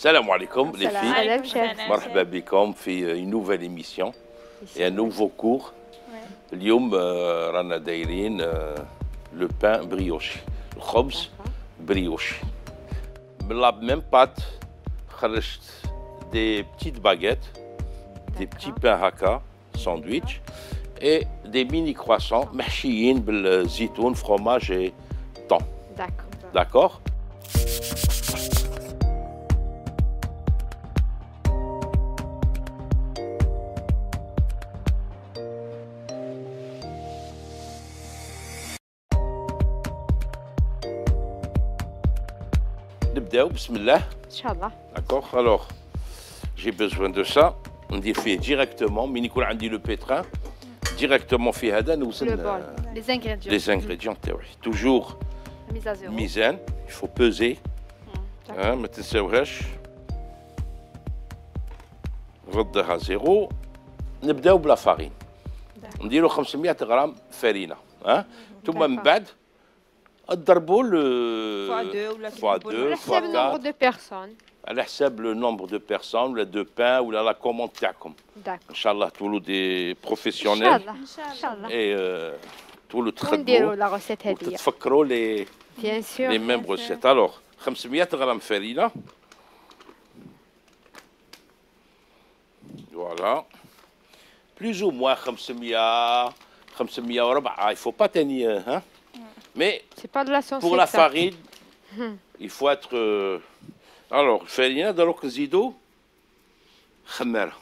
Salam alaikum les filles. Salam chef. مرحبا بكم في une nouvelle émission et un nouveau cours. اليوم رانا دايرين le pain brioche. الخبز brioche. من la même pâte خرجت des petites baguettes, des petits pains haka, sandwich et des mini croissants محشيين بالزيتون, fromage et thon. D'accord. نبداو بسم الله. Inch'Allah. D'accord. Alors, j'ai besoin de ça. ندير فيه directement من يكون عندي لو pétrin directement في هذا نوزن Le bol. Les ingrédients. les ingrédients تاوعي. Toujours Mise à zéro. ميزان. Il faut peser. ما تنساوهاش. نردها زيرو. نبداو بلا فارين. نديرو 500 غرام فرينه. ثم من بعد تضربوا fois 2 fois 4 le nombre de personnes. على حساب لو نومبر دو بيرسون ولا دو بان ولا لا كوموند تاعكم. ان شاء الله تولوا دي بروفيسيونيل. ان شاء الله. اي تولوا ونديروا تخدموا لا روسيت هذه. وتتفكروا لي بيان سور. لي ميم روسيت. الوغ 500 غرام فرينه. فوالا. بلوز او موان 500 وربع. il faut pas tenir hein. Mais c'est pas de la science pour la farine, il faut être alors الفرينه دروك نزيدو خماره.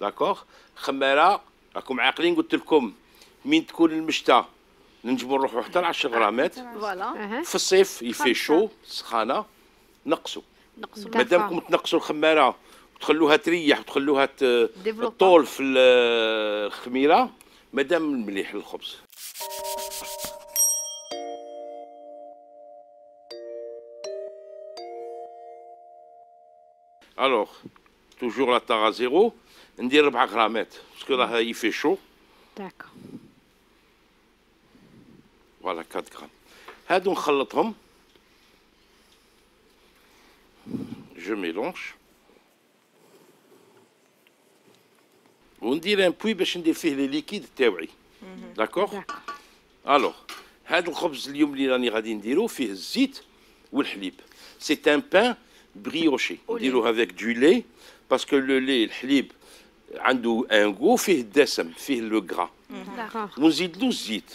داكوغ. خماره راكم عاقلين قلت لكم من تكون المشتى ننجموا نروحوا حتى ل 10 غرامات. فوالا. في الصيف يفي شو سخانه نقصوا. مادامكم تنقصوا الخماره وتخلوها تريح وتخلوها تطول في الخميره مادام مليح للخبز. Alors, toujours la tare à zéro, ندير 4 غرامات باسكو راه يفي شو. D'accord. فوالا 4 غرام. هادو نخلطهم. Je mélange. وندير ان بوي باش ندير فيه لي ليكيد تاوعي. داكوغ. الوغ هاد الخبز اليوم اللي راني غادي نديرو فيه الزيت والحليب. سي ان بان بريوشي. نديروه افيك دو لي باسكو لو لي الحليب عنده ان غو فيه الدسم فيه لو غرا. ونزيدلو الزيت.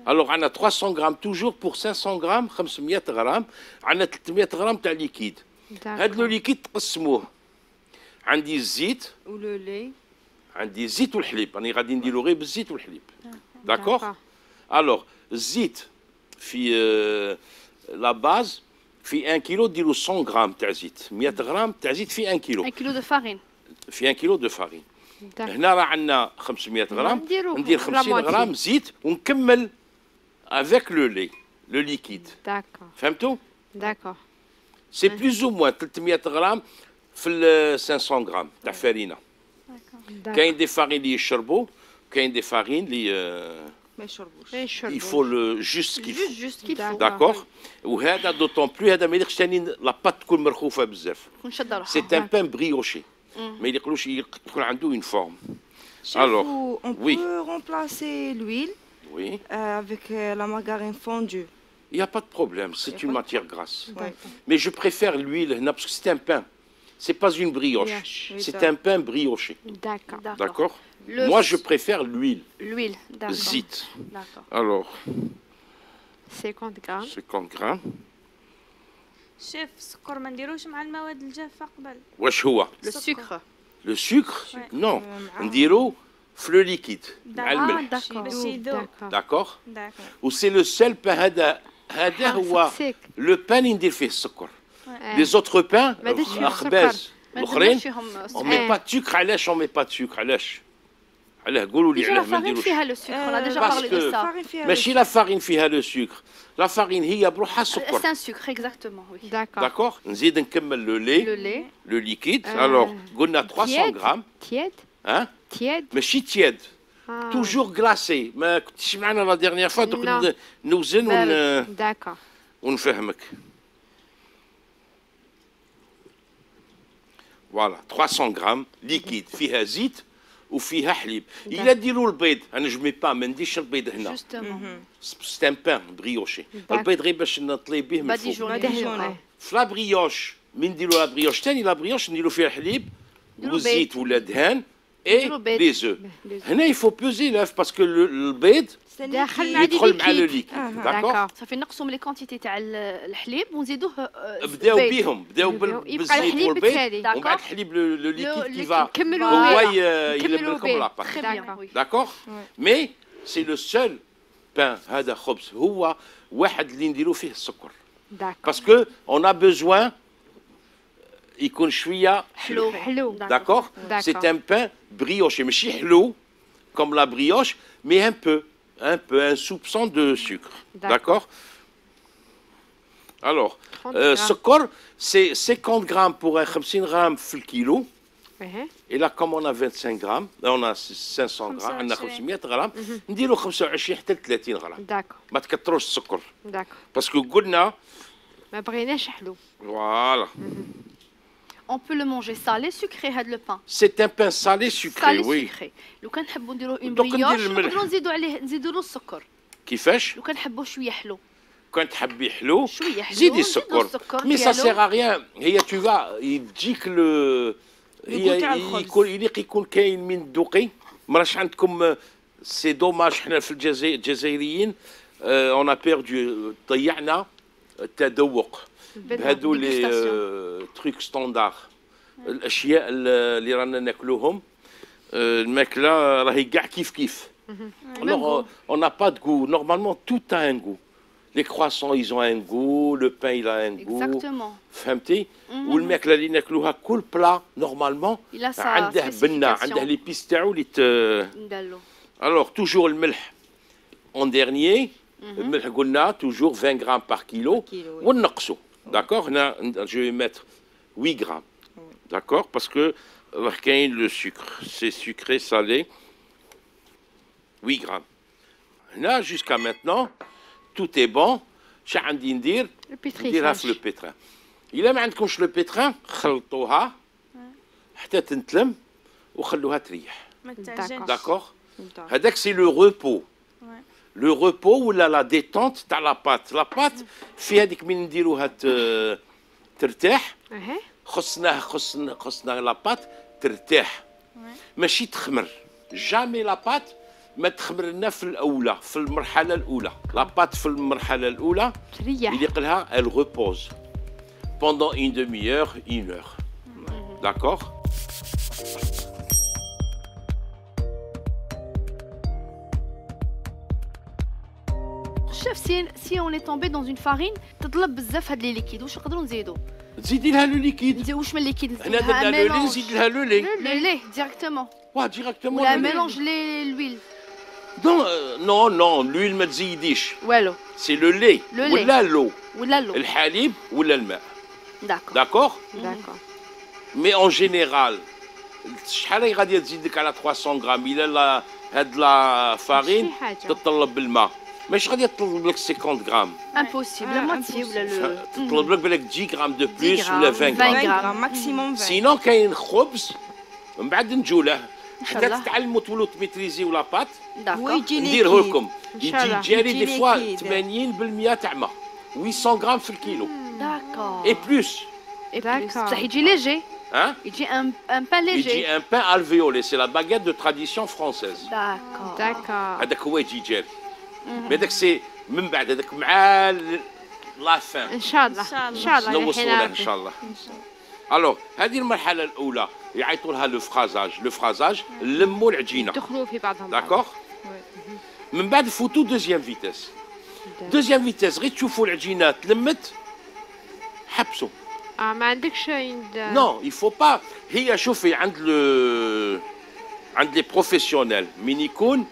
الوغ عندنا 300 غرام توجور بور 500 غرام 500 غرام عندنا 300 غرام تاع ليكيد. هاد لو ليكيد تقسموه. عندي الزيت ولو لي. عندي الزيت والحليب. راني غادي نديرو غير بالزيت والحليب. داكوغ. الوغ الزيت في لا باز في 1 كيلو ديروا 100 غرام تاع زيت. 100 غرام تاع زيت في 1 كيلو. 1 كيلو دو فارين. في 1 كيلو دو فارين. هنا راه عندنا 500 غرام. ندير 50 غرام زيت ونكمل افيك لو لي لو ليكيد. داكور. فهمتوا؟ داكور. سي بلوز او موان 300 غرام في ال 500 غرام تاع فرينه. كاين دي فارين اللي يشربوا كاين دي فارين اللي ما يشربوش. il faut le juste qu'il faut. Juste qu'il faut. داكوغ. وهذا دوطون بلو هذا ما يليقش ثاني لا بات تكون مرخوفه بزاف. سي ان بان بريوشي. ما يليقلوش يكون عنده اون فورم. Alors, on peut remplacer l'huile oui. Avec la margarine fondue. Il n'y a pas de problème, c'est une matière grasse. Mais je préfère l'huile parce que c'est un pain. C'est pas une brioche. C'est un pain brioché. D'accord. D'accord. Moi, je préfère l'huile. L'huile, d'accord. Zit. D'accord. Alors. 50 grammes. 50 grammes. شيف السكر ما نديروش مع المواد الجافة قبل. واش هو؟ Le sucre. Le sucre? Non. نديرو في لو ليكيد مع الملح. باش يذوب. داكوغ. و سي لو سيل بان هذا هو لو بان اللي ندير فيه السكر. لي زوتر بان الخباز الاخرين اون مي با سكر. علاش اون مي با سكر؟ علاش؟ علاه قولوا لي علاه ما نديروش. فيها لو سكر. انا ديجا بارلي دو سا. ماشي لا فارين فيها لو سكر. لا فارين هي بروحها السكر. سي ان سكر اكزاكتومون وي. داكوغ. نزيد نكمل لو لي لو ليكيد. الوغ قلنا 300 غرام. تياد. تياد. ماشي تياد. توجور غلاسي. ما كنتيش معنا لا ديرنيير فوا دوك نوزن داكوغ ونفهمك. فوالا 300 غرام ليكيد فيها زيت وفيها حليب. الا ديروا البيض، انا جو مي با ما نديرش البيض هنا، سي ان بان بريوشي. البيض غير باش نطلي به من الفوق. في لا بريوش من نديروا لا بريوش ثاني، لا بريوش نديروا فيها الحليب والزيت ولا دهان اي لي زو. هنا يفو بوزي لوف باسكو البيض يدخل مع لو ليكيد. داكور صافي نقصوا من لي كونتيتي تاع الحليب ونزيدوه. بداو بيهم، بداو بالزيت والبيض ومن بعد الحليب لو ليكيد كيفا هو يلم لكم لاباط. داكور مي سي لو سول بان. هذا خبز هو واحد اللي نديرو فيه السكر باسكو اون ا بوزوان يكون شويه حلو. داكور سي ان بان بريوشي ماشي حلو كوم لا بريوش مي un soupçon de sucre. D'accord. Alors, sucre, c'est 50 grammes pour un 50 grammes في الكيلو. Et là, comme on a 25 grammes, on a 500 grammes, on a 500 grammes, نديرو 25 حتى 30 غرام. ما تكثروش السكر. باسكو قلنا ما بغيناش حلو. Voilà. On peut le manger salé, sucré, هذا le pain. C'est un pain salé sucré, oui. Sucré. لو كان نحبوا نديروا اون بريوش نقدروا نزيدوا له السكر. كيفاش؟ لو كان نحبوا شويه حلو. كان تحبي حلو زيدي السكر. مي سا سيغ غيان. هي تو فا يجيك هي يكون كاين من الدوقي. مراش عندكم سي دوماج. حنا في الجزائريين اون ا بيردو ضيعنا التذوق بهذو لي تروك ستاندار. الاشياء اللي رانا ناكلوهم الماكله راهي كاع كيف. Alors on n'a pas de goût. Normalement tout a un goût. Les croissants ils ont un goût, le pain il a un goût. Exactement. فهمتي؟ والماكله اللي ناكلوها كل بلا نورمالمون عنده بنه، عنده لي بيس تاعو اللي ندلو. Alors toujours الملح en dernier. الملح قلنا toujours 20 grammes par kilo ونقصوا. D'accord. هنا je vais mettre 8 grammes. D'accord parce que كاين le sucre, c'est sucré salé. 8 grammes. Là, jusqu'à maintenant, tout est bon. شا عندي ندير؟ نديرها في لو بيتران. إلا ما عندكمش لو بيتران خلطوها حتى تنتلم وخلوها تريح. داكور؟ هذاك سي لو روبو. لو روبو ولا لا ديتونت تاع لا بات. لا بات في هذيك من نديروها ترتاح. خصنا لا بات ترتاح ماشي تخمر. جامي لا بات ما تخمر لنا في الاولى، في المرحله الاولى. لا بات في المرحله الاولى يليق لها elle repose pendant une demi-heure, une heure. D'accord. Chef, si on est tombé dans une farine تطلب بزاف هاد لي ليكيد واش نقدروا نزيدوا؟ تزيدي لها لو ليكيد. واش من ليكيد؟ هنا درنا لو لي نزيد لها لو لي. لو لي ديريكتومون. واه ديريكتومون. ولا ميلونج لويل. نو لويل ما تزيديش. والو. سي لو لي ولا لو. ولا لو. الحليب ولا الماء. داكور. مي اون جينيرال شحال غادي تزيدك على 300 غرام؟ الا هاد لا فارين تطلب بالماء ماشي غادي تطلب لك 50 غرام. امبوسيبل ماتي ولا تطلب لك بالك 10 غرام دو بلوس ولا 20 غرام ماكسيموم 20. سينون كاين خبز من بعد نجوله حتى تتعلموا تولوا تميتريزيو لا بات. نديره لكم يجي جاري دي فوا 80% تاع ماء 800 غرام في الكيلو. داكور. اي بلوس. بصح يجي ليجي. Hein? Il dit un pain léger. Il dit un pain alvéolé, c'est la baguette de tradition française. D'accord. هذاك هو يجي جاري. مي هذاك سي من بعد هذاك مع لا فان. ان شاء الله. ان شاء الله. نوصلوا ان شاء الله. الوغ هذه المرحلة الأولى يعيطوا لها لو فرازاج. لو فرازاج نلموا العجينة. يدخلوا في بعضهم. داكور؟ من بعد فوتوا دوزيام فيتاس. دوزيام فيتاس غير تشوفوا العجينة تلمت حبسوا. ما عندكش نو يفو با. هي شوفي عند لي بروفيسيونيل من يكون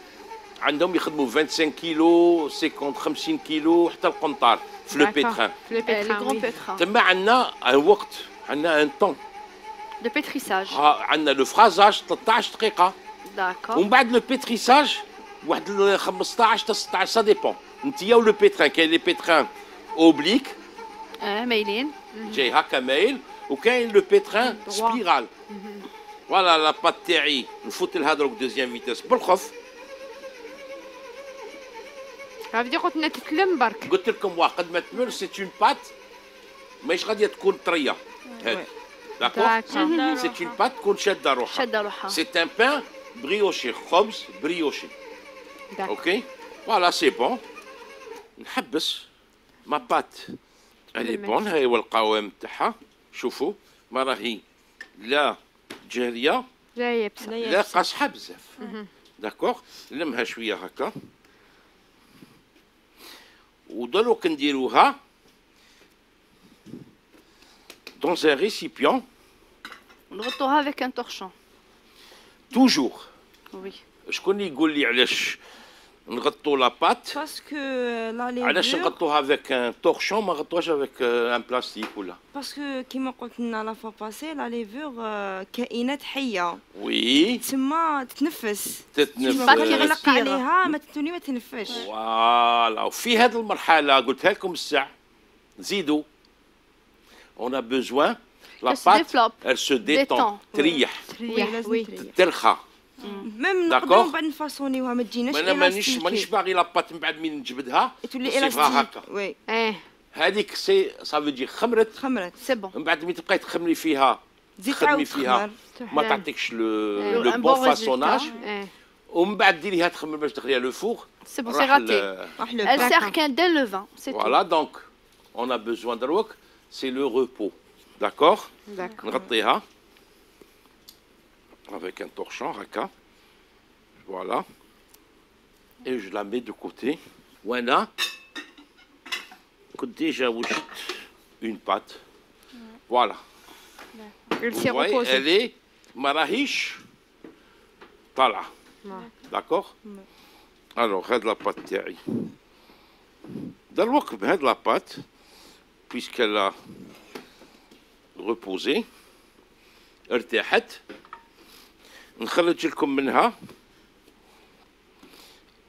عندهم يخدموا 25 كيلو 50 كيلو حتى القنطار في لو بيتران. لي غرون بيتران. تما عندنا ان وقت، عندنا ان طون دو بيتريساج. عندنا لو فرازاج 13 دقيقة. داكور. ومن بعد لو بيتريساج واحد 15 حتى 16 سا ديبون. انتيا ولو بيتران كاين لي بيتران اوبليك مايلين جاي هكا مايل، وكاين لو بيتران سبيرال. فوالا لا بات تاعي نفوت لها دروك دوزيام فيتاس بالخف. هذه قلت لنا تتلم برك. قلت لكم قد ما تمر سي اون بات ماهيش غاديه تكون طريه هذه. داكور سي اون بات تكون شاده روحها. سي ان بان بريوشي، خبز بريوشي. اوكي فوالا سي بون. نحبس ما بات الي بون. هاي هو القوام تاعها. شوفوا ما راهي لا جاريه لا قاصحه بزاف. داكوغ نلمها شويه هكا ودروك نديروها dans un récipient. نغطوها avec un torchon. toujours. Oui. شكون يقول لي علاش نغطوا لا بات؟ باسكو لا ليفور علاش نغطوها افيك ان تورشون ما نغطوهاش افيك ان بلاستيك ولا؟ باسكو كيما قلت لنا لا فوا باسي لا ليفور كائنات حيه. وي تسمى تتنفس. تتنفس. كيغلق عليها ما تتوني ما تنفسش. فوالا. وفي هذه المرحله قلتها لكم الساعه نزيدوا. On a besoin la pâte elle se détend. تريح. ترخى. ميم نقدروا بعد نفاصونيوها ما تجيناش انا مانيش باغي لاباط من بعد من نجبدها تولي الاستيك. وي هذيك سي صافي تجي خمرت سي بون. من بعد ملي تبقاي تخمري فيها تخدمي فيها ما تعطيكش لو بون فاسوناج. ومن بعد ديريها تخمر باش تدخليها لو فوغ. سي بون سي غاتي. Elle sert qu'un dès le vin, c'est tout. Voilà donc on a besoin دروك c'est le repos. D'accord. نغطيها avec un torchon, haka. Voilà. Et je la mets de côté. Voilà. Déjà, une pâte. Voilà. Vous voyez, elle est marahish. Voilà. D'accord. Alors, regarde la pâte. Dans le wok, regarde la pâte, puisqu'elle a reposé. ارتاحت. نخرج لكم منها.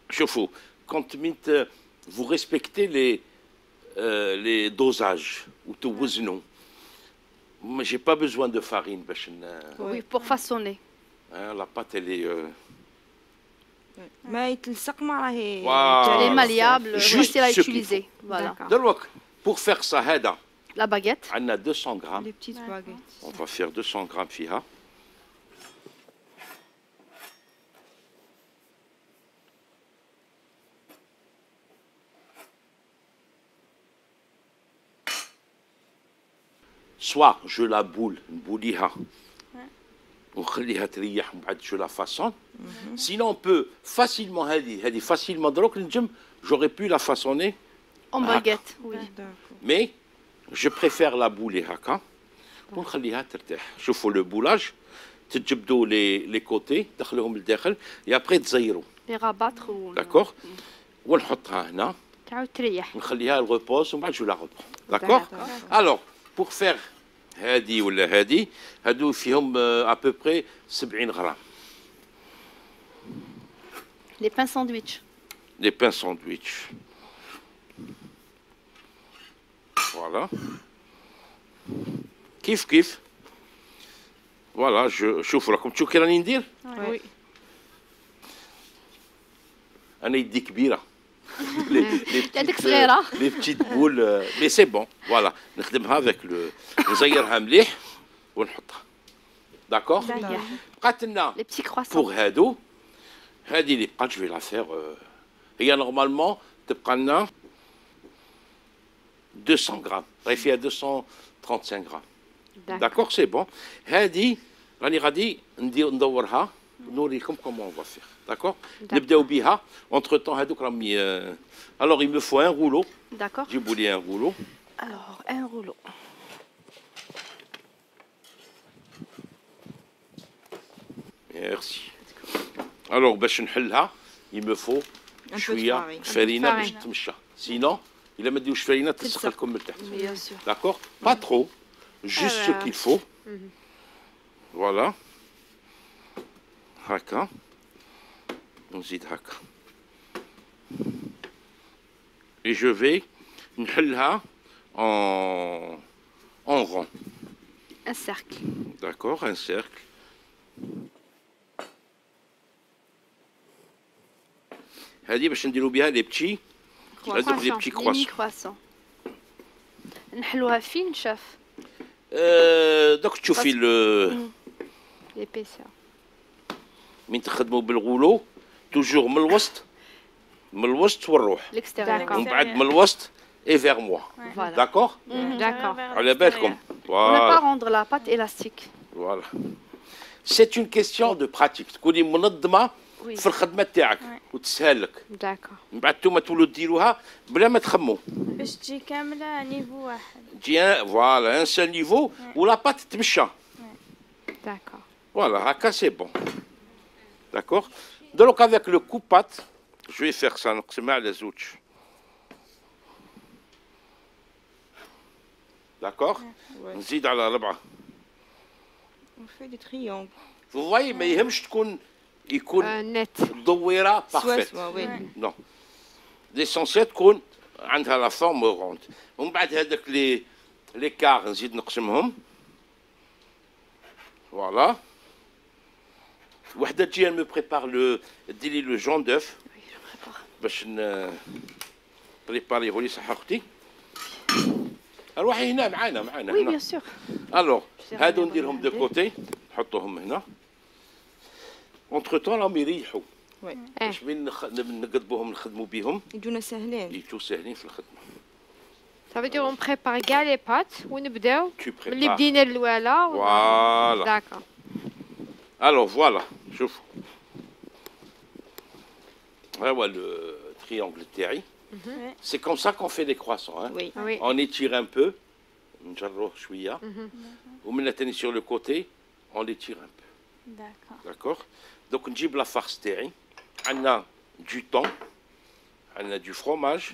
شوفوا كنت ميت vous respectez les dosages وتوزنوا. Mais j'ai pas besoin de farine باش Oui, pour façonner. La pâte elle est ما يتلصق ما راهي. Elle est malléable, facile à utiliser. Voilà. دروك pour faire ça هذا. La baguette. عندنا 200 grammes. Les petites baguettes. On va faire 200 grammes فيها. Soit je la boule, نبوليها ونخليها تريح ومن بعد je la façonne. Sinon on peut facilement هذه facilement دروك نجم j'aurais pu la façonner en baguette. Oui. Mais je préfère la bouler هكا ونخليها ترتاح. شوفوا لو بولاج تجبدوا لي كوتي تدخلوهم لداخل et après تزيروا. Les rabattre ou. D'accord. ونحطها هنا. تعاود تريح. نخليها الريبوز ومن بعد je la reprends. D'accord. Alors pour faire هادي ولا هادي هادو فيهم à peu près 70 غرام. Les pains sandwich. Les pains sandwich. Voilà. كيف voilà شوفوا راكم تشوفوا كي راني ندير. Oui. انا يدي كبيره. يدك صغيره. لي بتيت بول مي سي بون. فوالا نخدمها افيك لو نزيرها مليح ونحطها. داكور. بقات لنا لي بتي كرواسون بوغ هادو. هادي اللي بقات جو في لا فير هي نورمالمون تبقى لنا 200 غرام. راهي فيها 235 غرام. داكور سي بون. هادي راني غادي ندورها نوريكم كومون اون فا فير. D'accord. نبداو بها. Entre temps هادوك راهم alors il me faut un rouleau. D'accord. J'ai boulé un rouleau. Alors un rouleau. Merci. Alors باش نحلها il me faut شويه فرينه باش تمشى. Sinon إلا ما ديروش فرينه تلصق لكم من تحت. D'accord. Pas trop. Juste ce qu'il faut. Voilà. هكا. نزيد هكا. Et je vais نحلها en rond. ان سيركل. D'accord, un cercle. هذه باش نديرو بها لي بتي هذوك لي بتي ميني كرواسون. كرواسون. نحلوها فين شاف؟ دوك تشوفي ليبيسير. من تخدموا بالغولو توجور من الوسط، من الوسط والروح، ليكستيريور. ومن بعد من الوسط اي فيغ موا. فوالا. داكور. D'accord. على بالكم. On ne pas Voilà. rendre la pâte élastique. Voilà. C'est une question de pratique. تكوني منظمة Oui. في الخدمة تاعك وتسهل لك. D'accord. من بعد نتوما تولوا ديروها بلا ما تخموا. باش تجي كاملة نيفو واحد. تجي فوالا ان سول نيفو ولا بات تمشى. D'accord. Voilà, haka c'est bon. D'accord. Donc avec le coup pâte, je vais faire ça. نقسمها على زوج. D'accord. نزيد على 4. On fait des triangles. Vous voyez ما يهمش يكون نت. دويرة parfaite. oui. Non. L'essentiel تكون عندها لا فورم روند. ومن بعد هذاك لي كار نزيد نقسمهم. Voilà. وحده تجي me prépare ديري لو جون دوف باش بريباريه لي صح اختي. روحي هنا معانا Oui, هنا. bien sûr. الوغ هادو نديرهم دو كوتي نحطوهم هنا. اونتر طون راهم يريحوا باش من نقضبوهم نخدموا بهم يجونا سهلين. يجوا ساهلين في الخدمه. Ça veut dire on prépare كاع لي بات ونبداو Tu prépares. ملي بدينا الاولى. Voilà. D'accord. Alors voilà, شوفوا. هو لو triangle تاعي. C'est comme ça qu'on fait des croissants. Hein. Oui. Oui. On étire un peu. نجروه شويه. ومن تاني sur le côté, on l'étire un peu. D'accord. Donc نجيب لا فارس تاعي. عندنا du thon, عندنا du fromage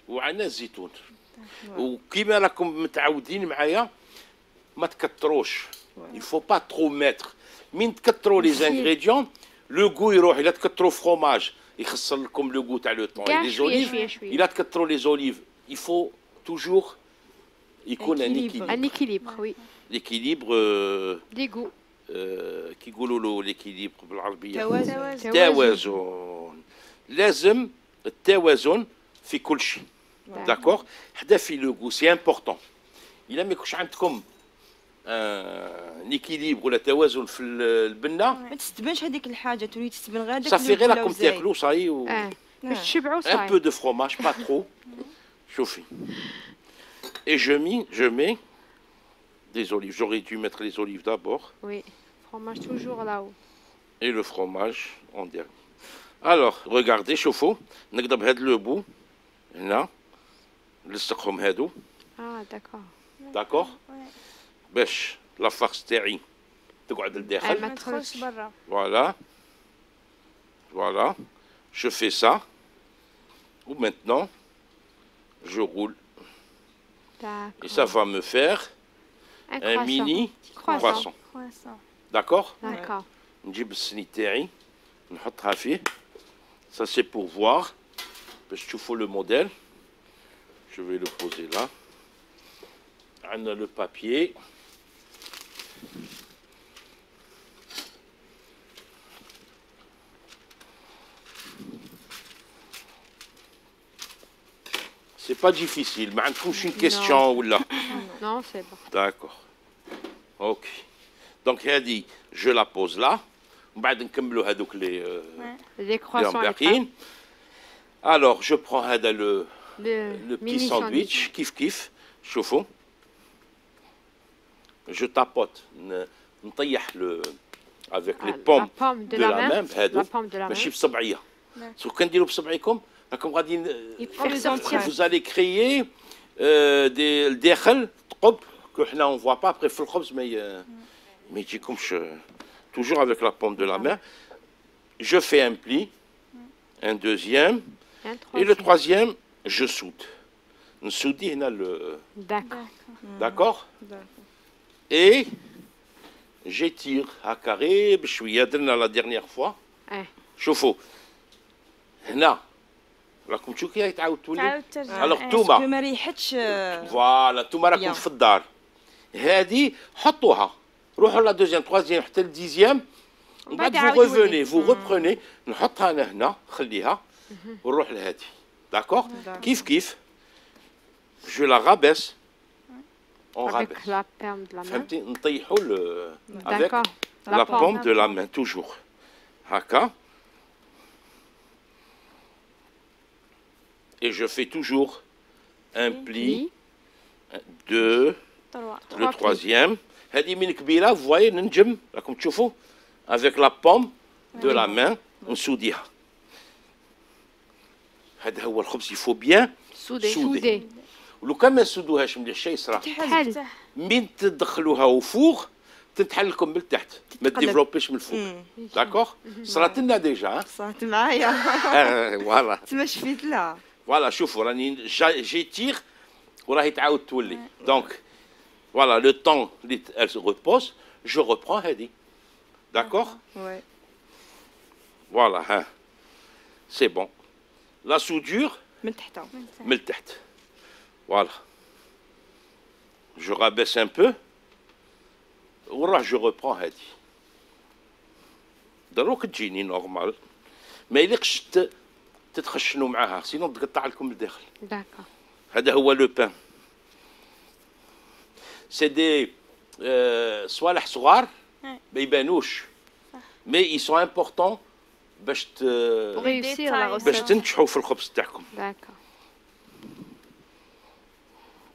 وعندنا الزيتون. وكيما راكم متعودين معايا ما تكتروش. Il faut pas trop mettre. من تكتروا لي زانغريديون لو غو يروح. الا تكتروا فروماج يخسر لكم لو غو تاع لو طون. كاع لي شوية زوليف شوية شوية. الا تكتروا لي زوليف il faut toujours يكون ان Équilibre. Un équilibre, oui. ليكيليبر. Des goûts. كي يقولوا له ليكيليبر بالعربيه توازن. توازن. لازم التوازن في كل شيء. داكور. حدا في لو غو سي امبورطون. الا ما يكونش عندكم ليكيليبر ولا توازن في البنه ما تستبانش هذيك الحاجه تولي تستبان غير داك صافي غير الفلا راكم وزايد. تاكلوا صاي باش تشبعوا un صاي. peu de fromage, pas trop. Chauffé. Et je mets des olives. J'aurais dû mettre les olives d'abord Oui. Fromage toujours là-haut. et le fromage en dernier. Alors, regardez, chauffe-eau. نقدر بهذا لو بو هنا نلصقهم هادو. Ah, d'accord. داكور. باش لا فارس تاعي تقعد لداخل. ما ما تدخلش برا. Voilà. Voilà. Je fais ça. Ou maintenant, je roule. D'accord. Et ça va me faire Un un croissant. mini Croissant. croissant. D'accord. D'accord. نجيب السني تاعي نحطها فيه. Ça c'est pour voir. باش تشوفوا le modèle. Je vais le poser là. عندنا le papier. C'est pas difficile. ما عندكمش une question ولا. Non, c'est bon. D'accord. Ok. Donc هذه je la pose là. ومن بعد نكملوا هذوك لي Les croissants. باقيين. Alors je prends هذا le Le petit mini sandwich كيف كيف. شوفوا. Je tapote. نطيح avec les pommes La pomme de la main. La بهذو pomme de la main. ماشي بصبعيه. سو كان ديروا بصبعيكم راكم غادي Faire sortir. vous allez créer des الداخل ثقب que حنا on voit pas après في الخبز ما يجيكمش. Toujours avec la paume de la main. Je fais un pli, un deuxième, Un et le troisième. troisième, je soude. نسودي هنا D'accord. d'accord. Et j'étire هكا غير بشويه. درنا la dernière fois. شوفوا هنا راكم تشوفوا كي تعاود تولي. تعاود ترجع. Alors باسكو توما ما ريحتش. فوالا توما راكم Bien. في الدار. هذه حطوها روحوا لا دوزيام تروازيام حتى الديزيام ومن بعد فو ريفوني فو ريبروني نحطها انا هنا خليها ونروح لهذه داكوغ كيف كيف جو لا رابيس اون رابيس فهمتي نطيحوا افيك لا بوم دو لا مان توجور هكا et je fais toujours un pli, 2, le troisième. هذه من كبيرة vous voyez ننجم راكم تشوفوا avec la paume de la main نسوديها. هذا هو الخبز يفو بيان سودي. ولو كان ما نسودوهاش مليح شي يصرى. من تدخلوها وفوق تتحل لكم من التحت ما تديفلوبيش من الفوق. داكوغ؟ صرات لنا ديجا. صرات معايا. فوالا. تما شفيت لها. فوالا شوفوا راني جي تيغ وراهي تعاود تولي دونك فوالا لو طون اللي elle se repose je reprends هذه d'accord ouais voilà ها c'est bon la soudure من تحت من التحت voilà je rabaisse un peu وراه je reprends هذه دروك تجيني نورمال ما يليقش تتخشنوا معاها سينو تقطع لكم الداخل داكا هذا هو لو بان سي دي صوالح صغار ما يبانوش مي اي سون امبورطون باش باش تنجحوا في الخبز تاعكم داكا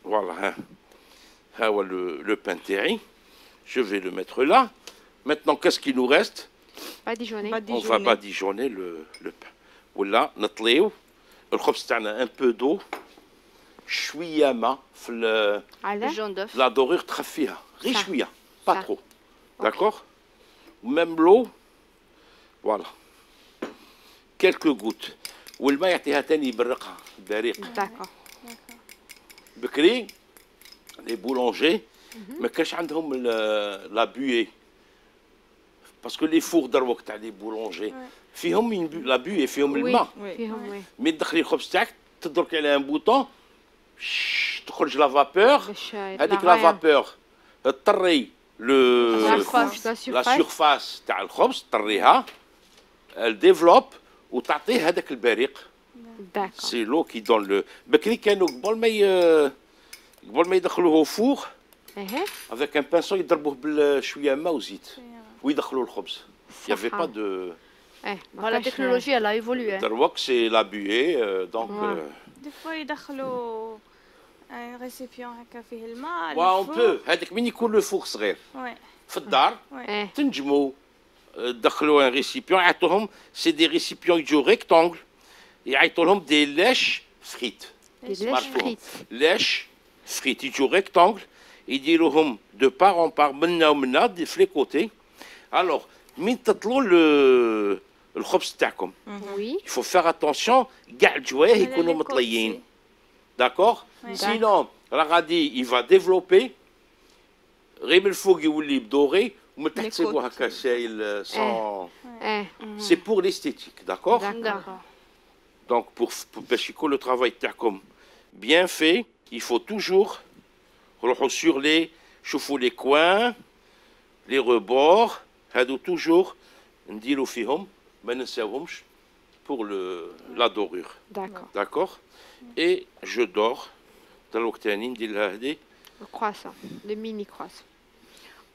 فوالا ها هو لو بان تاعي جو في لو ميتر لا maintenant qu'est-ce qui nous reste on va badigeonner le pain ولا نطليو الخبز تاعنا ان بو دو شويه ما في الجون دوف لا دوريغ تخفيها غير شويه با ترو داكوغ ميم لو فوالا كيلكو غوت والماء يعطيها ثاني يبرقها بريق داكوغ بكري لي بولونجي ما كانش عندهم لا بوي باسكو لي فور دروك تاع لي بولونجي فيهم لا بوي فيهم الماء فيهم مي تدخلي الخبز تاعك تدركي على ان بوطون تخرج لا فابور هذيك لا فابور تطري لا سيرفاس تاع الخبز تطريها ديفلوب وتعطيه هذاك البريق سي لو كي دون لو بكري كانوا قبل ما يدخلوه فوق افيك ان بانسون يضربوه بشويه ماء وزيت ويدخلوا الخبز يافي با دو la technologie elle a évolué. دروك سي لا بوي دونك دي فوا يدخلوا ان ريسيبيون هكا فيه الماء اون بو هذاك من يكون لو فوق صغير في الدار تنجموا تدخلوا ان ريسيبيون يعطوهم سي دي ريسيبيون يجو ريكتونغل يعيطوا لهم دي لاش فريت لاش فريت يجو ريكتونغل يديروهم دو بار اون بار منا ومنا في لي كوتي الوغ من تطلوا الخبز تاعكم il faut faire attention كاع الجوايه يكونوا مطليين داكوغ سينون راه غادي il va développer غير من الفوق يولي بدوري ومن تحت سيبوه هكا سايل سون سي بور ليستيتيك داكوغ دونك باش يكون لو ترافاي تاعكم bien fait il faut toujours روحوا sur les شوفوا les coins les rebords هادو توجور نديرو فيهم ما ننساوهمش pour la dorure d'accord et je dors دروك تاني ندير لها هذه croissant le mini croissant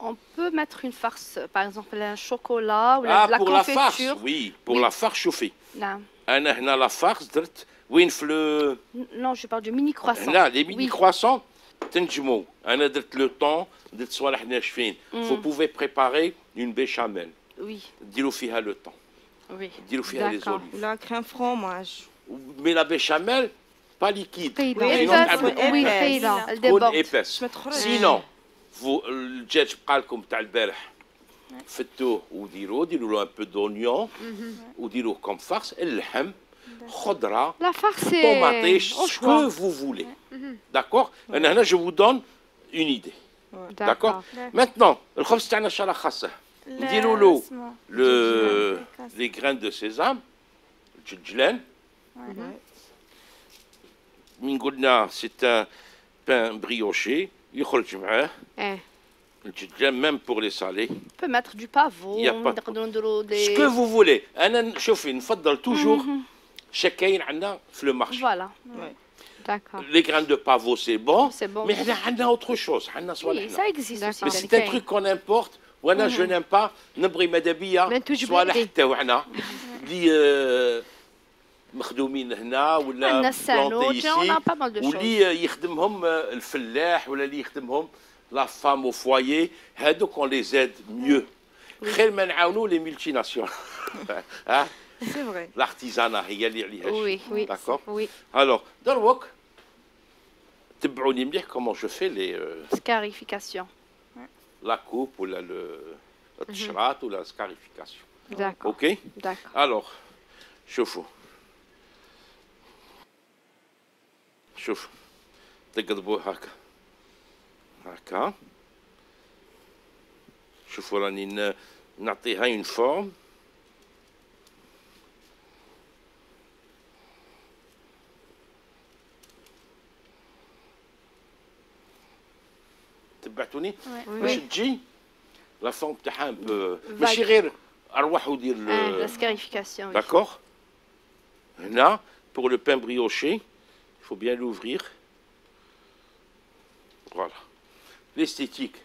on peut mettre une farce par exemple un chocolat ou la pour confiture la farce oui pour la farce chauffée نعم انا هنا la farce درت وين في non je parle du mini croissant هنا les mini croissants تنجموا انا درت لو طون درت صوالح ناشفين vous pouvez préparer une béchamel ديروا فيها لو طون ديروا فيها لي زوليف لا كريم فرomage مي لا béchamel pas liquide تكون épaisse sinon الدجاج بقى لكم تاع البارح فتوه وديروا له ان بو دونيون وديروه كوم فارس اللحم خضره لا farce tomate ce que vous voulez d'accord انا هنا je vous donne une idée d'accord maintenant الخبز تاعنا شرا خاصه نديروا له les graines de sésame الجلجلان من قلنا c'est un pain brioché يخرج معاه الدجاج ميم بور لي سالي. On peut mettre du pavot, نقدروا نديروا ce que vous voulez. انا شوفي نفضل توجور شكاين عندنا في لو مارشي. Voilà. D'accord. Les graines de pavot c'est bon. C'est bon. Mais on a autre chose. Oui, ça existe aussi. Mais c'est un truc qu'on importe. وانا je n'aime pas نبغي ماذا بيا صوالح تاعنا اللي مخدومين هنا ولا بلانتي واللي يخدمهم الفلاح ولا اللي يخدمهم لا فام او فوايي هادوك اون لي زيد ميو خير ما نعاونوا لي ملتي ناسيونال. سي فري. الارتيزانا هي اللي عليها وي وي داكور. وي الوغ دروك تبعوني مليح كومون جو في لي scarification. la coupe ou le التشرات ou la scarification. D'accord. Ok. D'accord. Alors, شوفوا شوف تقلبوه هكا هكا. شوفوا راني نعطيها اون فورم. تبعتوني باش تجي لا فورم تاعها ماشي غير اروح ودير La scarification. Oui. d'accord. هنا pour le pain brioché il faut bien l'ouvrir. Voilà. L'esthétique.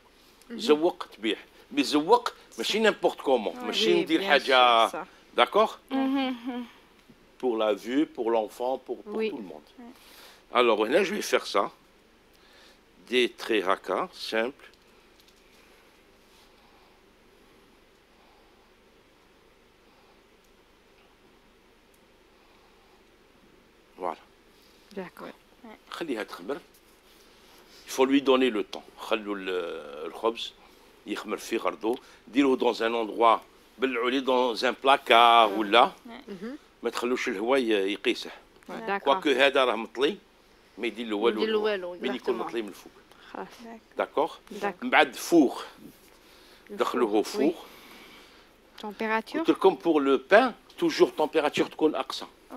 زوق تبيع مي زوق ماشي n'importe comment ماشي ندير حاجه d'accord. Pour la vue, pour l'enfant, pour tout le monde. Alors là je vais faire ça. Des traits haka simples. Voilà. D'accord. خليها تخمر. Il faut lui donner le temps. خلوا الخبز يخمر في غردو. ديروه dans un endroit بلعوا dans un placard ولا ما تخلوش الهواء يقيسه. D'accord. كواكو هذا راه مطلي ما يدير له والو. يدير له والو. مين يكون مطلي من الفوق. خلاص. داكوغ. D'accord. من بعد فوغ دخلوه فوغ. Température. قلت لكم بور لو بان توجور تمبيراتور تكون اقصى. Ouais.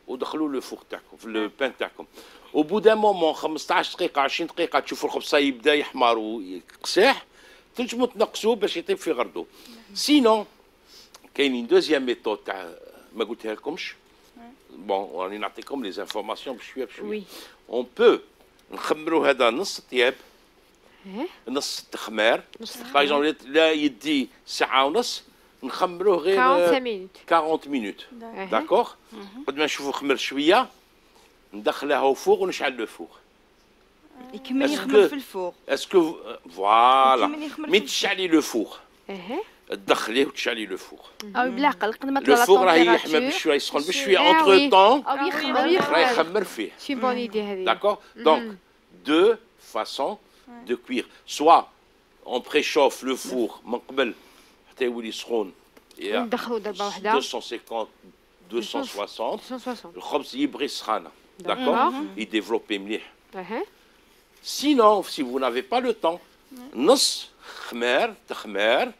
ودخلوا لو فوغ تاعكم في لو بان تاعكم. او بو دان مومون 15 دقيقه 20 دقيقه تشوفوا الخبز يبدا يحمر ويقساح تنجموا تنقصوه باش يطيب في غردو. سينون كاينين دوزيام ميثود تاع ما قلتها لكمش. بون راني نعطيكم لي زانفورماسيون بشويه بشويه. اون بو نخمروا هذا نص طياب نص التخمار. باغ اكزومبل لا يدي ساعه ونص نخمروه غير 45 minutes. 40 مينوت. داكوغ. قد ما نشوفوا خمر شويه ندخلها فوق ونشعل لو فوق. يكمل يخمر في الفوق. اسكو فوالا يكمل مي تشعلي لو فوق تدخليه وتشعلي لو فوق. او بالعقل قد ما لو طلع فوق راه يحمى بشويه يسخن بشويه اونتر طون او يخمر راه يخمر فيه. C'est une bonne idée هذه. D'accord. Donc deux façons de cuire. Soit on préchauffe le four من قبل حتى يولي سخون. ندخلوا ضربه واحده. 250 260 260. الخبز يبغي سخانه. D'accord. يديفلوبي مليح. Sinon, si vous n'avez pas le temps, نص خمار تخمار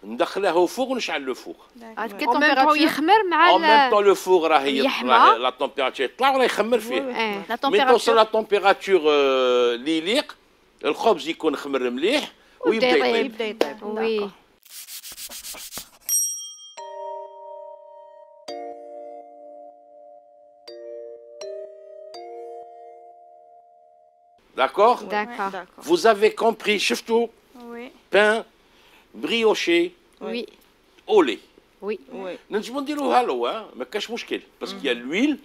ندخلها فوق ونشعل لو فوق. En même temps يخمر مع En même temps le four راه يحمى. لا تمبيراتور يطلع وراه يخمر فيه. La من توصل température. لا تمبيراتور اللي يليق الخبز يكون خمر مليح ويبدا يطيب. يبدا يطيب. Oui. D'accord. D'accord. Vous avez compris شفتوا Oui. pain brioché Oui. au lait. Oui. وي. نجمو نديروها لو ما كاش مشكل باسكو يا l'huile.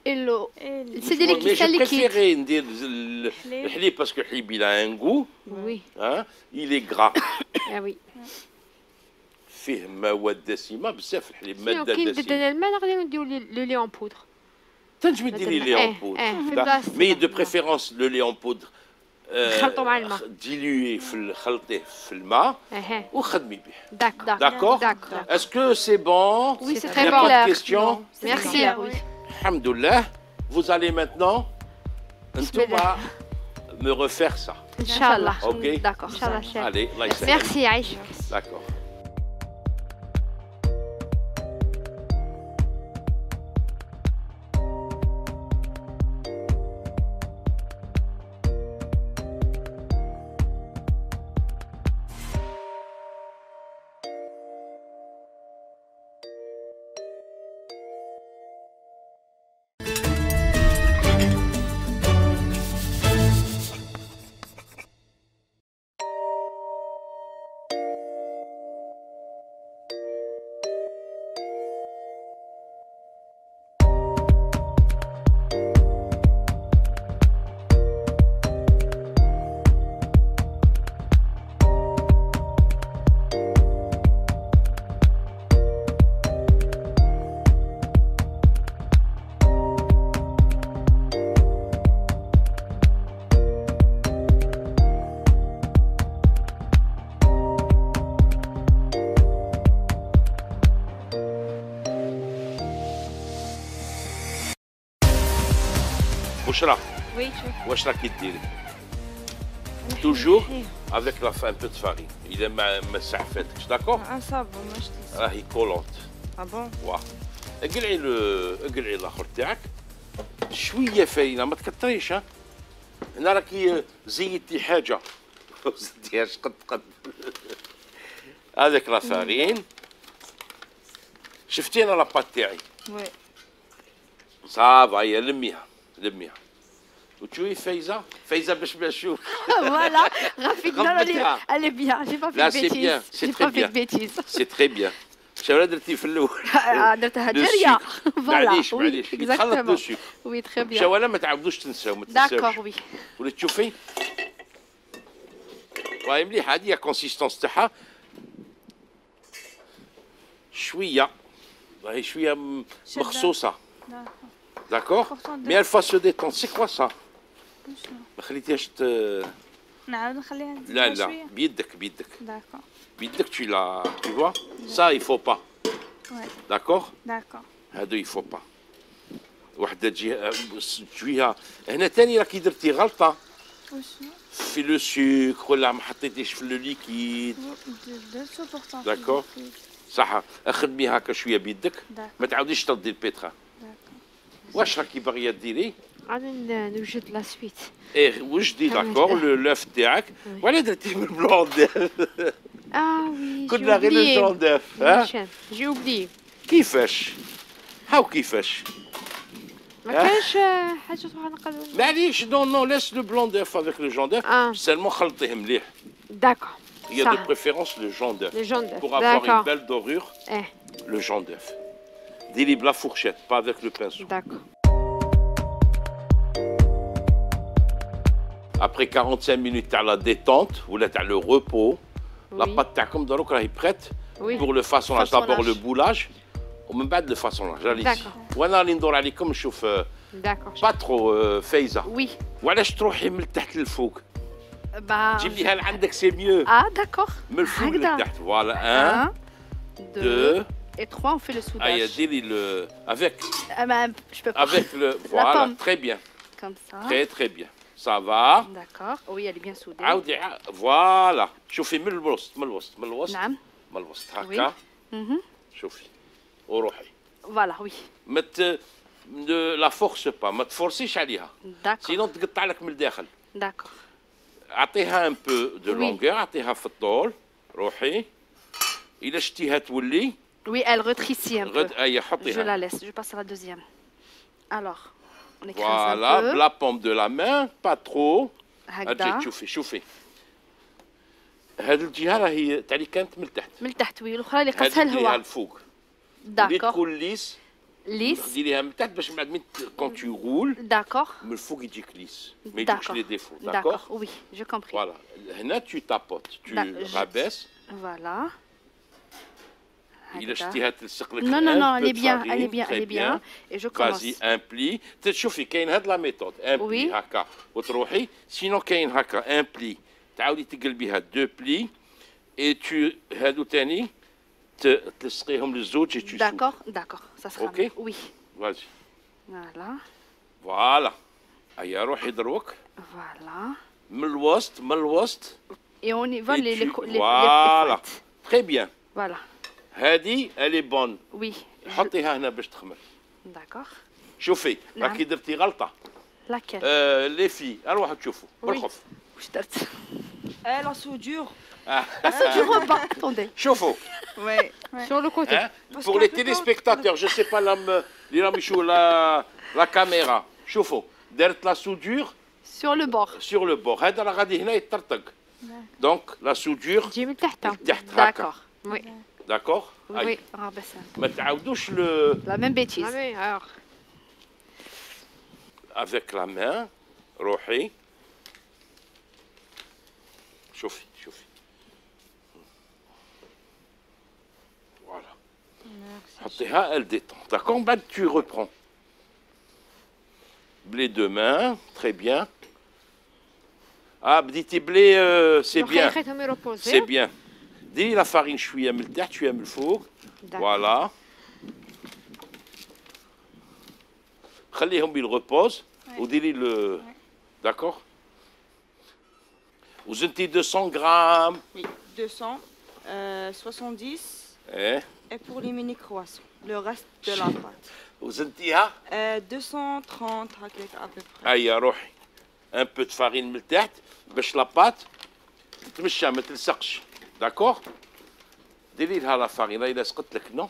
Et l'eau. Et C'est des Mais liquides, je c'est liquide. préférais ندير الحليب باسكو الحليب il a un goût. Oui. Hein, il est gras. Ah oui. فيه مواد دسمه بزاف الحليب ماده كي دسمه. نبدل الماء نقدروا نديروا لو لي اون بودر. تنجمي ديري لي اون بودر. مي دو بريفيرونس لو لي اون بودر. نخلطوا مع الماء. ديلوي في خلطيه في الماء وخدمي به. D'accord. D'accord. D'accord. Est-ce que c'est bon? Oui, c'est Il très n'y a bon. pas de questions? Merci. Oui. Alhamdoulilah. Vous allez maintenant me refaire ça. Inch'Allah. Ok. D'accord. Inch'Allah, chef. Allez, Allah يسهل. Merci Aïcha. D'accord. واش راك وي شوف واش راكي ديري توجور افيك لا ان بو دو فارين اذا ما سعفتكش داكور صافا ماش تلصق. راهي كولونت بون واه اقلعي اقلعي الاخر تاعك شويه فاينه ما تكتريش ها هنا راكي زيدتي حاجه ما زدتيهاش قد هذاك لا فارين شفتي انا لاباط تاعي وي صافا هي لميها وتشوفي فايزه باش نشوف Voilà, Rafik, non, غلطتها. elle est bien. J'ai pas fait Là, de c'est bien, bêtises. c'est J'ai très pas fait de bien. bêtises. سي تري بيان شنو درتي في الاول درتها لو جارية. سكر. Voilà. معليش Oui, معليش يتخلط لو exactement. سكر Oui, très bien. شوالا ما تعاودوش تنساو ما تنساوش D'accord, oui. وليت تشوفي راهي مليحه هذه كونسيستونس تاعها شويه راهي شويه شدة. مخصوصه داكور داكور Pourtant, مي elle va se détendre c'est quoi ça ما خليتيهاش نعاود نخليها تزيد لا شوية. لا بيدك داكور بيدك tu vois ça il faut pas وي d'accord داكور هادو il faut pas وحده تجيها هنا تاني راكي درتي غلطه وشنو في لو سكر ولا ما حطيتيش في لو ليكيد درتو بورتون داكور صح اخدمي هكا شويه بيدك داكور ما تعاوديش تردي البيترا واش راكي باغيه ديري غادي نوجد لا سويت. ايه وجدي داكور لوف تاعك ولا درتي من البلون داف وي كنا غير البلون داف ها جي اوبلي. كيفاش هاو كيفاش ما كانش حاجة أخرى نقدروا. معليش نو لاس لو بلون داف افيك لو جون داف سالمون خلطيه مليح داكور. il y a de préférence le jaune d'œuf Le jaune d'œuf. pour avoir une D'accord. belle dorure Eh, le jaune d'œuf dis-lui la fourchette pas avec le pinceau d'accord. après 45 minutes تاع la détente ولا تاع le repos la Oui. pâte تاعكم دروك راهي prête Oui. pour le façonnage d'abord le Façonnage. boulage ومن بعد le façonnage allez D'accord. وانا راني ندور عليكم نشوف D'accord. pas trop فايزه Oui. وعلاش تروحي من التحت للفوق Bah. جيبيها لعندك سي ميو Ah, d'accord. من الفوق هكذا. للتحت فوالا 1 1, 2 2 et 3, on fait le ايا soudage. ديري le avec Je peux pas. avec le voilà pomme. très bien Comme ça. très bien ça va D'accord. Oui, elle est bien soudée. عاودي فوالا شوفي من الوسط نعم. من الوسط هكا Mhm. شوفي وروحي Voilà, oui. ما لا فورس با ما تفورسيش عليها D'accord. سينون تقطع لك من الداخل D'accord. اعطيها ان بو دو Oui. لونغور اعطيها في الطول روحي الا شتيها تولي Oui, elle rétrécit un peu. غد اي Je حطيها la laisse. Je passe à la deuxième. Alors, on écrase فوالا un peu. بلا بوم دو لا مان با ترو هكذا. اجي شوفي هذه الجهه راهي تاعي كانت من التحت من التحت وي الاخرى اللي هذه قصها الجهه الهواء. الفوق اللي داكور. تكون ليس ليس. ديريها من تحت باش من بعد كون تو رول داكور. من الفوق يجيك ليس ما يجيكش داكور. لي ديفو داكور. داكور Oui, j'ai compris. فوالا هنا تو تابوت تو رابيس Voilà. الا هكذا. شتيها تلصق لك Non, non, non, elle est bien, elle est bien, elle est bien. Et je commence. فازي ان بلي تشوفي كاين هاد لا ميثود ان بلي Oui. هكا وتروحي سينو كاين هكا ان بلي تعاودي تقلبيها دو بلي اي تو هادو تاني تلصقيهم للزوج اي تو D'accord, d'accord. Ça sera Ok. mieux. Oui. فازي Voilà. فوالا هيا روحي دروك Voilà. من الوسط Et on y va Et les tu- les voilà. pointes. تري بيان Voilà. هادي الي بون Oui. حطيها هنا باش تخمر D'accord. شوفي نعم. راكي درتي غلطه Laquelle لي في اروحوا تشوفوا Oui. بالخوف واش درت؟ La soudure. La soudure au bas. Attendez. شوفوا Ouais. Sur le côté. hein, pour les téléspectateurs je sais pas اللي راهم يشوفوا la caméra شوفوا درت la soudure Sur le bord. sur le bord هذا راه غادي هنا يطرطق donc la soudure تجي من تحت. تحت هكا D'accord. Oui. d'accord Oui. Ah ben ça. ما تعاودوش le La même bêtise. Ah oui, alors. avec la main روحي شوفي voilà حطيها elle détend d'accord من بعد tu reprends blé de main très bien بديتي بلي c'est bien خليتهم يروبوزي. c'est bien ديري لا فارين شويه من التحت شويه من الفوق فوالا خليهم يربوز وديري لو داكور. وزنتي 200 غرام. Oui, 200, 70. ايه. Et pour les mini croissants, le reste de la pâte. وزنتيها 230 هكاك à peu près. هيا روحي ان بو دو فارين من التحت باش لاباط تتمشى ما تلصقش. داكور. ديري لها لا فارين راهي لصقت لك نو.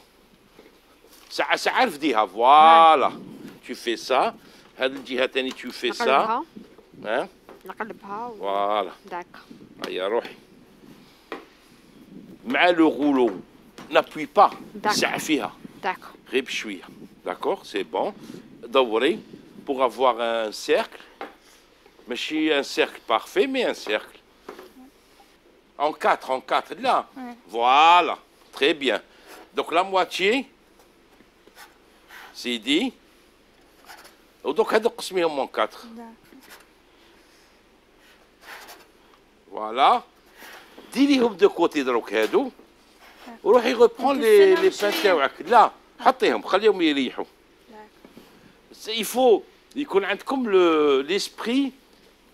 ساعة ساعة رفديها فوالا. تو في سا. هاد الجهة تاني تو في سا. نقلبها ها نقلبها فوالا. داك. هيا روحي مع لو غولو نابوي با. ساعة فيها داك. غير بشوية. داكور سي بون. دوري pour avoir un cercle. ماشي un cercle parfait mais un cercle. En 4 là. Voilà. Très bien. Donc la moitié c'est dit. ودوك هادو قسميهم en 4. Voilà. ديريهم دو كوتي دروك هادو وروحي غوبخون لي بان تاوعك. لا حطيهم خليهم يريحوا. Il faut يكون عندكم ليسبري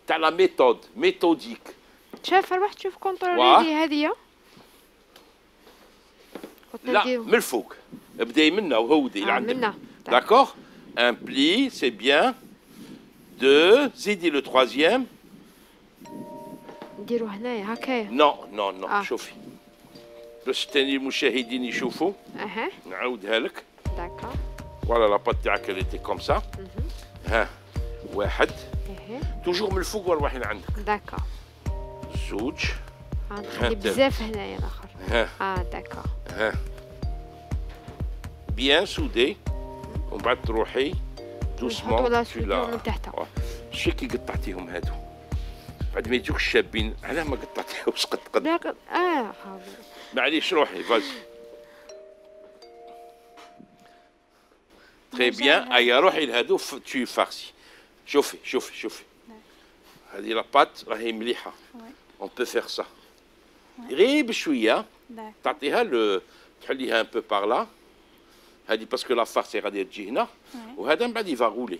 تاع لا ميثوديك. شاف روح تشوف كونترولي هذه لا من الفوق ابداي منا وهودي لعندك. منا داكور. ان بلي سي بيان. دو زيدي لو تروازيام. نديرو هنايا هكايا. نو شوفي باش تاني المشاهدين يشوفوا. اها نعاودها لك. داكا. فوالا لاباط تاعك اللي تي كوم سا. ها واحد. توجور من الفوق وروحي لعندك. داكا. زوج. نخلي بزاف هنايا الاخر. داكا. بيان سودي ومن بعد تروحي دوسمون. ولا سوديو من تحت. شي كي قطعتيهم هادو بعد ما يجوك الشابين علاه ما قطعتيهمش قد. معليش روحي فازي. تري بيان. هيا روحي لهادو تو فارسي. شوفي هذه لاباط راهي مليحه. اون بو فيغ سا غير بشويه تعطيها تحليها ان بو بار لا. هذه باسكو لا فارس غادي تجي هنا وهذا من بعد يفا غولي.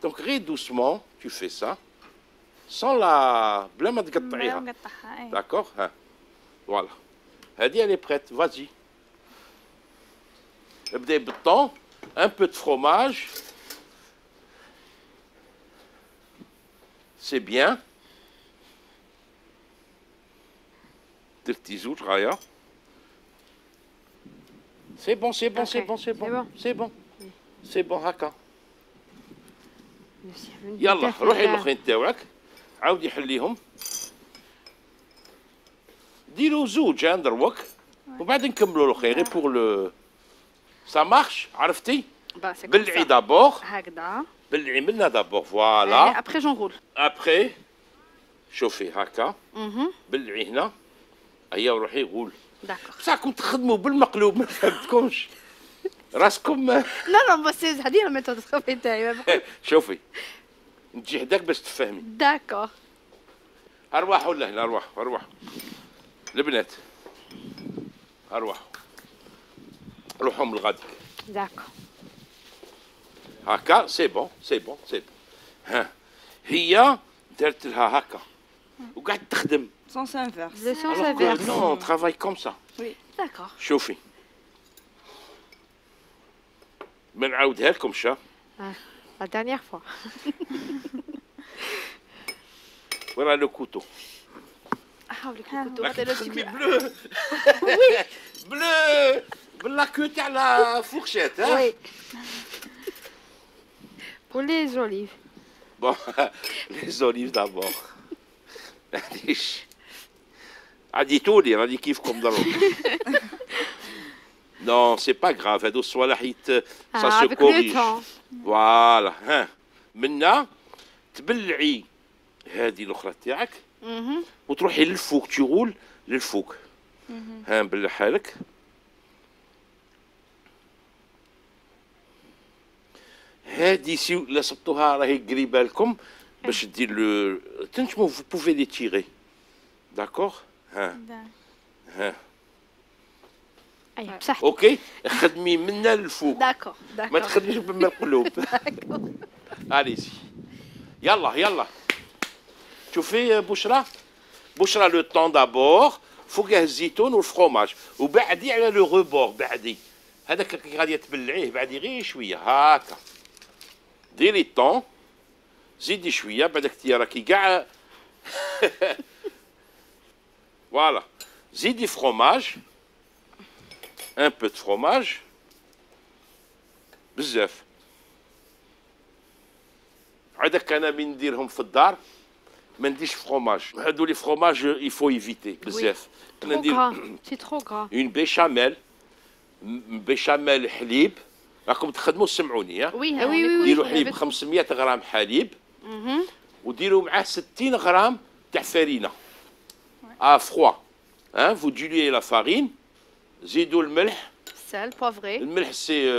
دونك غير دوسمون تو في سا سون لا بلا ما تقطعيها. داكور. ها فوالا هذه الي بريت. فازي ابداي بالطون. ان بو دو فروماج سي بيان. درتي زوج غايه. سي بون هكا. يلا روحي الاخرين تاوعك عاودي حليهم. ديروا زوج دروك وبعد نكملوا الاخرين غير بور لو سا مارش. عرفتي بلعي دابور هكذا. بلعي منا دابور فوالا. ابخي جونغول. ابخي شوفي هكا بلعي هنا. هيا وروحي غول. داكور. بصحكم تخدموا بالمقلوب ما فهمتكمش راسكم. لا بس هذه الميثود الخفي تاعي. شوفي نجي حداك باش تفهمي. داكور. ارواحوا لهنا ارواحوا البنات ارواحوا روحوا من الغادي. داكور. هكا سي بون. ها هي دارت لها هكا وقعدت تخدم. Sens inverse. Le sens inverse. Non, on travaille comme ça. Oui. D'accord. شوفي ما نعاودها لكم شا. La dernière fois. Voilà le couteau. حاولي كنتو bleu. Oui. Bleu. باللا كو تاع لا فورشيت. Oui. Pour les olives. Bon, les olives d'abord. عديتولي راني كيفكم ضروري. Non, c'est pas grave. هادو الصوالح ça se corrige. Voilà. ها منا تبلعي هذه الاخرى تاعك وتروحي للفوق تغول للفوق. ها نبلعها لك. هذه سي لصبتوها راهي قريبه لكم باش دير لو تنجموا vous pouvez les tirer. D'accord. ها ها أي بصح. اوكي خدمي منا للفوق داكور ما داكور. تخدميش بما القلوب. اليزي يلا يلا شوفي بشرى بشرى لو طون دابور فوقه الزيتون والفرomage وبعدي على لو روبور بعدي هذاك اللي غادي تبلعيه بعدي غير شويه هاكا ديري الطون زيدي شويه بعدك انت راكي كاع فوالا زيدي فرomage ان بو دو فرomage بزاف عادك انا من نديرهم في الدار ما نديرش فرomage هادو لي فرomage يفو ايفيتي بزاف انا Trop ندير gras. C'est trop gras. اون بيشاميل بيشاميل حليب راكم تخدموا سمعوني ها وي وي، وي، وي. ديروا حليب 500 غرام حليب وديروا معاه 60 غرام تاع فرينه فخوا ها فو ديليي لا فارين زيدوا الملح سال بوفري الملح سي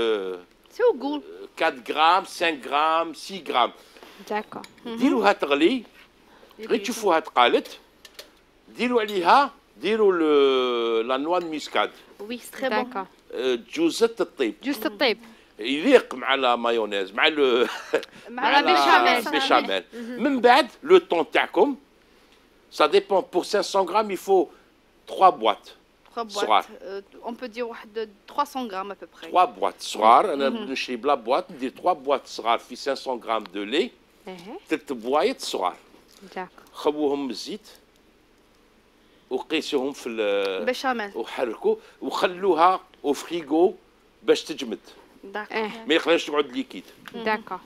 سي او غول 4 غرام 5 غرام 6 غرام D'accord. ديروها تغلي غير تشوفوها تقالت ديروا عليها ديروا لا نوا ميسكاد وي سي تري بون. D'accord. جوزة الطيب Juste الطيب. يليق مع لا مايونيز مع مع لا بيشاميل. البيشاميل من بعد لو طون تاعكم ça dépend pour 500 grammes il faut 3 boîtes 3 صغار. boîtes. On peut dire واحد 300 grammes à peu près. 3 boîtes صغار انا نشري بلا بواط ندير 3 بواط صغار في 500 غرام دو لي إيه. 3 بوايط صغار D'accord. خبوهم بالزيت وقيسوهم في بيشاميل. وحركوا وخلوها او فريغو باش تجمد داكور. إيه. ما يخليش تقعد ليكيد D'accord.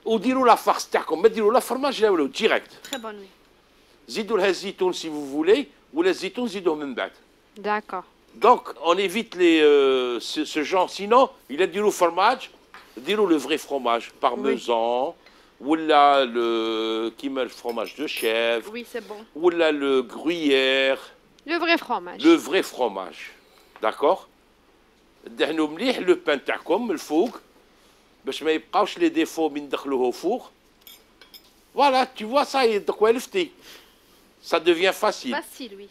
وديروا لا فارس تاعكم ما ديروا لا فرماج لا والو ديريكت تري بون وي. زيدوا لها الزيتون سي فو فولي ولا الزيتون زيدوه من بعد D'accord. Donc, on évite ce genre. Sinon, il a du fromage, le vrai fromage, parmesan, ou là le qui met le fromage de chèvre, Oui, c'est bon. ou là le gruyère, Le vrai fromage. le vrai fromage. D'accord? دهنوا مليح لو بان تاعكم من الفوق باش ما يبقاوش لي ديفو من ندخلوه فوق. Voilà, tu vois ça, donc ولفتي. Ça devient facile. Facile, oui.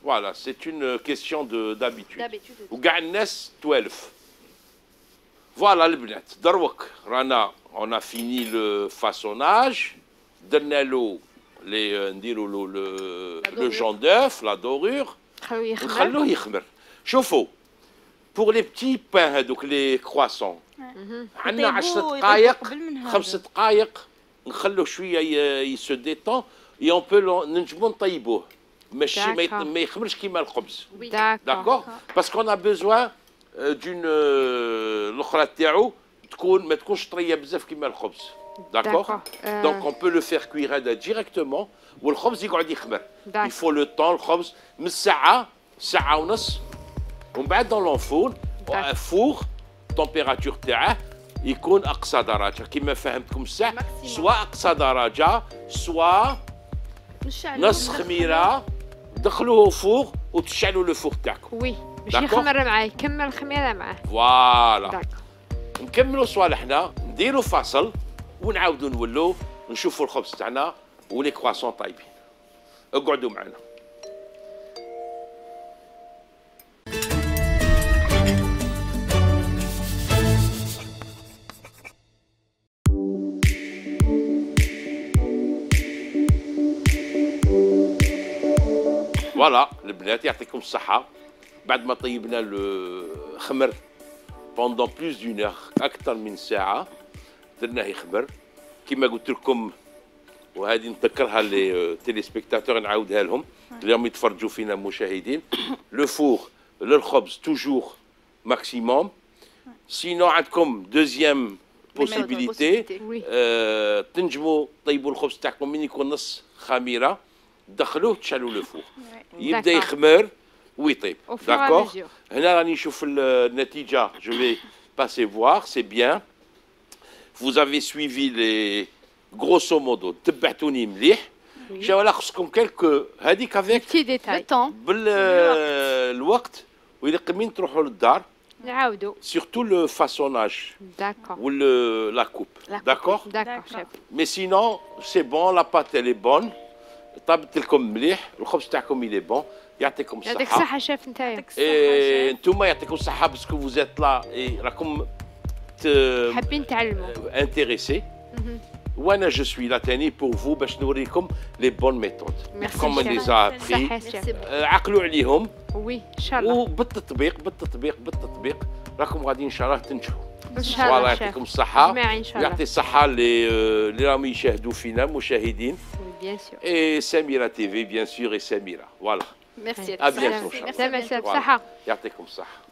Voilà, c'est une question d'habitude. D'habitude. وكاع الناس توالف. فوالا البنات دروك رانا اون فيني لو فاسوناج درنا له لي نديروا له لو جون دوف لا دورور خلوه يخمر. ونخلوه يخمر. شوفوا بور لي بتي بان هذوك لي كرواسون عندنا 10 دقائق قبل من هذا. 5 دقائق نخلوه شويه يسو ديتون اي اون بو نجمو نطيبوه ماشي ما يخمرش كيما الخبز. Oui. D'accord? Parce qu'on a besoin d'une الاخرى تاعو تكون ما تكونش طريه بزاف كيما الخبز. D'accord? Donc on peut le faire cuire هذا directement والخبز يقعد يخمر. Il faut le temps الخبز من ساعه ساعه ونص ومن بعد dans l'enfourne فور température تاعه يكون اقصى درجه كيما فهمتكم الساعه سواء اقصى درجه سواء نص خميره دخلوه فوق وتشعلوا لو فوق تاعكم. وي باش D'accord. يخمر معاه يكمل الخميره معاه. فوالا داكور. نكملوا صوالحنا نديروا فاصل ونعاودوا نولوا نشوفوا الخبز تاعنا ولي كرواسون طايبين. اقعدوا معنا. فوالا البنات يعطيكم الصحة بعد ما طيبنا الخمر بوندون بلوس دون اور أكثر من ساعة درناه يخمر كما قلت لكم وهذه نذكرها لي تيليسبيكتاتور نعاودها لهم اللي راهم يتفرجوا فينا المشاهدين لو فور للخبز توجور ماكسيموم سينو عندكم دوزيام بوسيبيليتي وي. تنجموا طيبوا الخبز تاعكم من يكون نص خميرة دخلوه تشعلوا لو فور يبدا D'accord. يخمر ويطيب. Au fur et à داكور mesure. هنا راني نشوف النتيجة جو في باسي فوار سي بيان vous avez suivi les grosso modo تبعتوني مليح جا ولا خصكم كالكو هذيك افيك بتي Le ديتاي. temps. بالوقت وإذا قمين تروحوا للدار نعاودو. سورتو لو فاسوناج داكور. و لا كوب La coupe. داكور داكور شيف. mais sinon c'est bon la pâte elle est bonne طابت لكم مليح، الخبز تاعكم يلي بون، يعطيكم الصحة. يعطيك الصحة شيف نتايا. يعطيك الصحة شيف. انتوما يعطيكم الصحة باسكو فوزيت لا راكم حابين تعلموا. انتريسي. وانا جو سوي لا تاني بور فو باش نوريكم لي بون ميثود. Merci, كوم chef. لي زابري. صحة شيف. عقلوا عليهم. وي ان شاء الله. وبالتطبيق راكم غادي ان شاء الله تنجحوا. ان شاء الله الله يعطيكم شيف. الصحة. جماعي ان شاء الله. يعطي الصحة اللي راهم يشاهدوا فينا مشاهدين. وي بيان سور. Et Samira TV, bien sûr, et Samira. Voilà. ميرسي. À bientôt, Inch'Allah. سلامة Voilà. بصحة. يعطيكم الصحة.